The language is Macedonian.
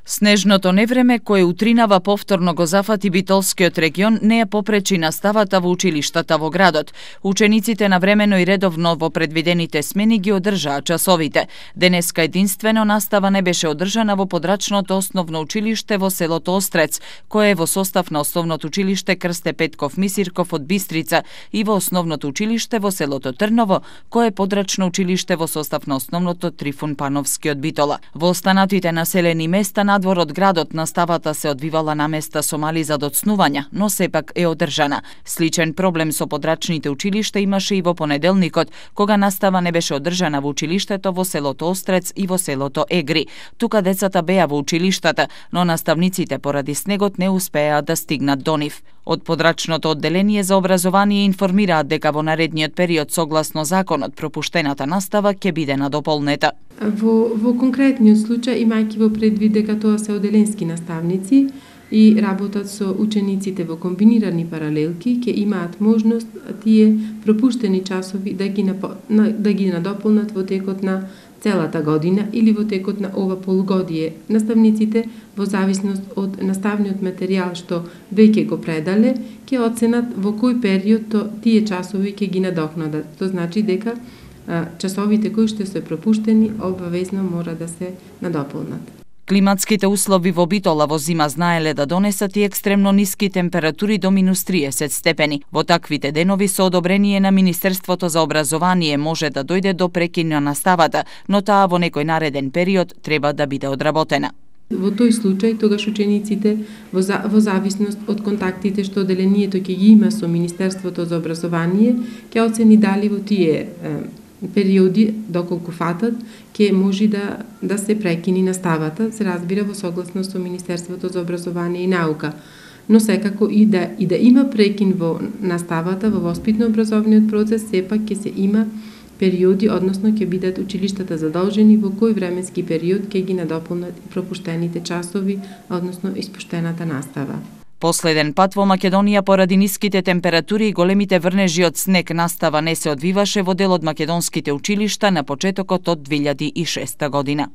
Снежното невреме кое утринава повторно го зафати Битолскиот регион не ја попречи наставата во училиштата во градот. Учениците навремено и редовно во предвидените смени ги одржаа часовите. Денеска единствено настава не беше одржана во подрачното основно училиште во селото Острец, кое е во состав на основното училиште Крсте Петков Мисирков од Бистрица и во основното училиште во селото Трново, кое е подрачно училиште во состав на основното Трифун Пановски од Битола. Во останатите населени места надвор од градот наставата се одвивала на места со мали задоцнувања, но сепак е одржана. Сличен проблем со подрачните училишта имаше и во понеделникот, кога настава не беше одржана во училиштето во селото Острец и во селото Егри. Тука децата беа во училиштата, но наставниците поради снегот не успеа да стигнат до нив. Од подрачното одделение за образование информираат дека во наредниот период согласно законот пропуштената настава ќе биде надополнета. Во конкретниот случај, имајќи во предвид дека тоа се одделенски наставници и работат со учениците во комбинирани паралелки, ќе имаат можност тие пропуштени часови да ги надополнат во текот на целата година или во текот на ова полугодие. Наставниците, во зависност од наставниот материјал што веќе го предале, ќе оценат во кој период тие часови ќе ги надокнадат. Тоа значи дека часовите кои што се пропуштени обавезно мора да се надополнат. Климатските услови во Битола во зима знаеле да донесат и екстремно ниски температури до -30 степени. Во таквите денови со одобрение на Министерството за образование може да дојде до прекин на наставата, но таа во некој нареден период треба да биде одработена. Во тој случај, тогаш учениците, во зависност од контактите што одделението ќе ги има со Министерството за образование, ќе оцени дали во тие периоди, доколку фатат, ќе може да се прекини наставата, се разбира во согласно со Министерството за образование и наука. Но секако и да има прекин во наставата, во воспитно-образовниот процес, сепак ќе се има периоди, односно ќе бидат училиштата задолжени во кој временски период ќе ги надополнат пропуштените часови, односно испуштената настава. Последен пат во Македонија поради ниските температури и големите врнежи од снег настава не се одвиваше во дел од македонските училишта на почетокот од 2006 година.